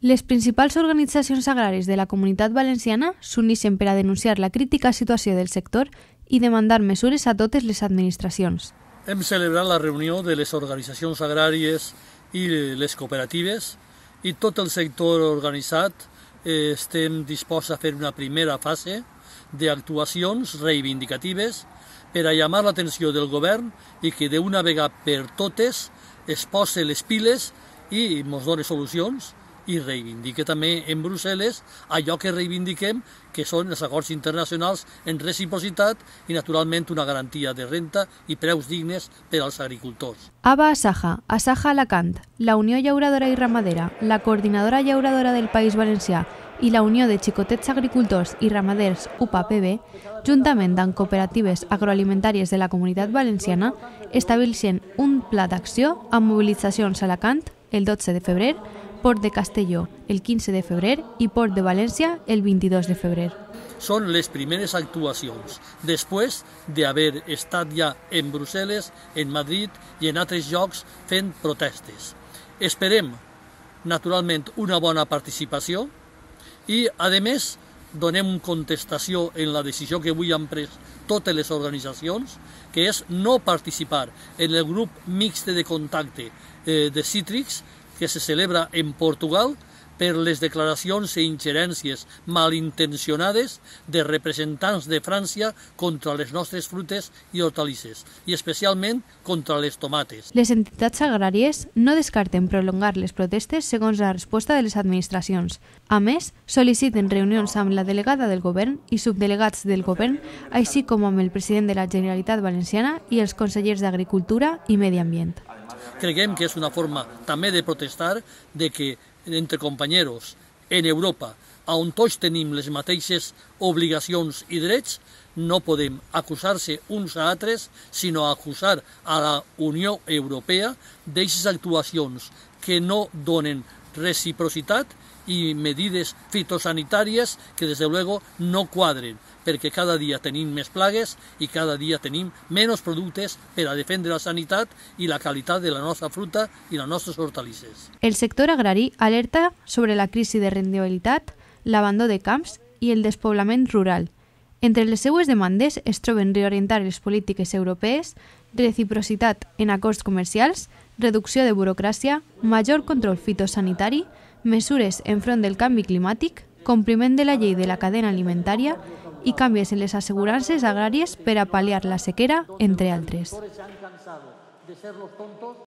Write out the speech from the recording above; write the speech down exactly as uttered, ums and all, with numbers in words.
Les principals organitzacions agràries de la Comunitat Valenciana s'uneixen per a denunciar la crítica situació del sector i demandar mesures a totes les administracions. Hem celebrat la reunió de les organitzacions agràries i les cooperatives i tot el sector organitzat eh, estem disposats a fer una primera fase d'actuacions reivindicatives per a llamar l'atenció del govern i que d'una vegada per totes es posi les piles i ens doni solucions i reivindique també en Brussel·les allò que reivindiquem, que són els acords internacionals en reciprocitat i, naturalment, una garantia de renta i preus dignes per als agricultors. ABA Asaja, Asaja Alacant, la Unió Llauradora i Ramadera, la Coordinadora Llauradora del País Valencià i la Unió de Xicotets Agricultors i Ramaders U P A P B, juntament amb cooperatives agroalimentàries de la Comunitat Valenciana, estableixen un pla d'acció amb mobilitzacions a Alacant el dotze de febrer, Port de Castelló el quinze de febrer i Port de València el vint-i-dos de febrer. Són les primeres actuacions, després d'haver estat ja en Brussel·les, en Madrid i en altres llocs fent protestes. Esperem, naturalment, una bona participació i, a més, donem contestació en la decisió que avui han pres totes les organitzacions, que és no participar en el grup mixte de contacte de cítrics que se celebra en Portugal per les declaracions i ingerències malintencionades de representants de França contra les nostres frutes i hortalisses, i especialment contra les tomates. Les entitats agràries no descarten prolongar les protestes segons la resposta de les administracions. A més, sol·liciten reunions amb la delegada del govern i subdelegats del govern, així com amb el president de la Generalitat Valenciana i els consellers d'Agricultura i Medi Ambient. Creiem que és una forma també de protestar de que entre companyeros en Europa, on tots tenim les mateixes obligacions i drets, no podem acusar-se uns a altres, sinó acusar a la Unió Europea d'aquestes actuacions que no donen reciprocitat i medides fitosanitàries que, des de luego, no quadren, perquè cada dia tenim més plagues i cada dia tenim menys productes per a defendre la sanitat i la qualitat de la nostra fruta i les nostres hortalisses. El sector agrari alerta sobre la crisi de rendibilitat, l'abandó de camps i el despoblament rural. Entre les seues demandes es troben reorientar les polítiques europees, reciprocitat en acords comercials, reducció de burocràcia, major control fitosanitari, mesures enfront del canvi climàtic, compliment de la llei de la cadena alimentària i canvis en les assegurances agràries per a pal·liar la sequera, entre altres.